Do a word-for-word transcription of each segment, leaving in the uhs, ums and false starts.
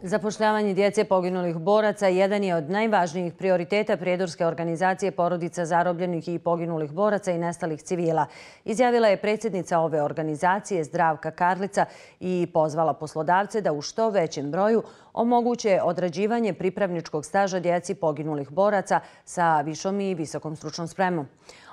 Zapošljavanje djece poginulih boraca jedan je od najvažnijih prioriteta prijedorske organizacije porodica zarobljenih i poginulih boraca i nestalih civila. Izjavila je predsjednica ove organizacije Zdravka Karlica i pozvala poslodavce da u što većem broju omoguće odrađivanje pripravničkog staža djeci poginulih boraca sa višom i visokom stručnom spremom.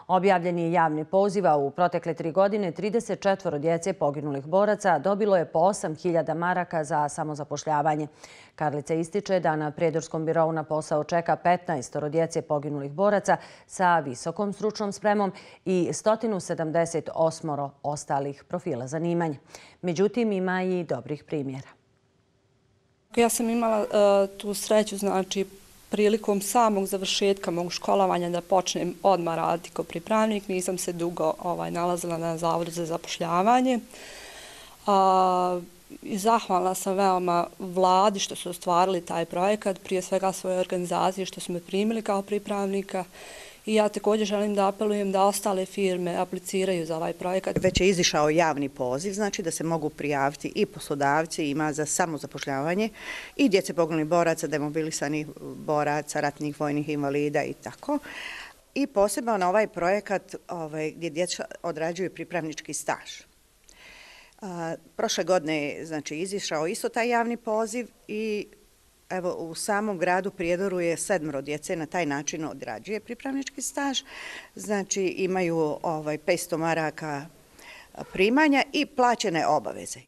Objavljen je javni poziv, a u protekle tri godine trideset četvoro djece poginulih boraca dobilo je po osam hiljada maraka za samozapošljavanje. Karlica ističe da na Prijedorskom birou na posao čeka petnaest djece poginulih boraca sa visokom stručnom spremom i sto sedamdeset osam ostalih profila zanimanja. Međutim, ima i dobrih primjera. Ja sam imala uh, tu sreću, znači, prilikom samog završetka mog školovanja da počnem odmah raditi kao pripravnik. Nisam se dugo ovaj, nalazila na Zavodu za zapošljavanje. A, i zahvalna sam veoma vladi što su ostvarili taj projekat, prije svega svoje organizacije što su me primili kao pripravnika. I ja također želim da apelujem da ostale firme apliciraju za ovaj projekat. Već je izišao javni poziv, znači da se mogu prijaviti i poslodavci, ima za samozapošljavanje i djece poginulih boraca, demobilisanih boraca, ratnih vojnih invalida i tako. I posebno na ovaj projekat ovaj, gdje djeca odrađuju pripravnički staž. A, prošle godine je znači, izišao isto taj javni poziv i evo, u samom gradu Prijedoru je sedmero djece na taj način odrađuje pripravnički staž. Znači imaju ovaj, petsto maraka primanja i plaćene obaveze.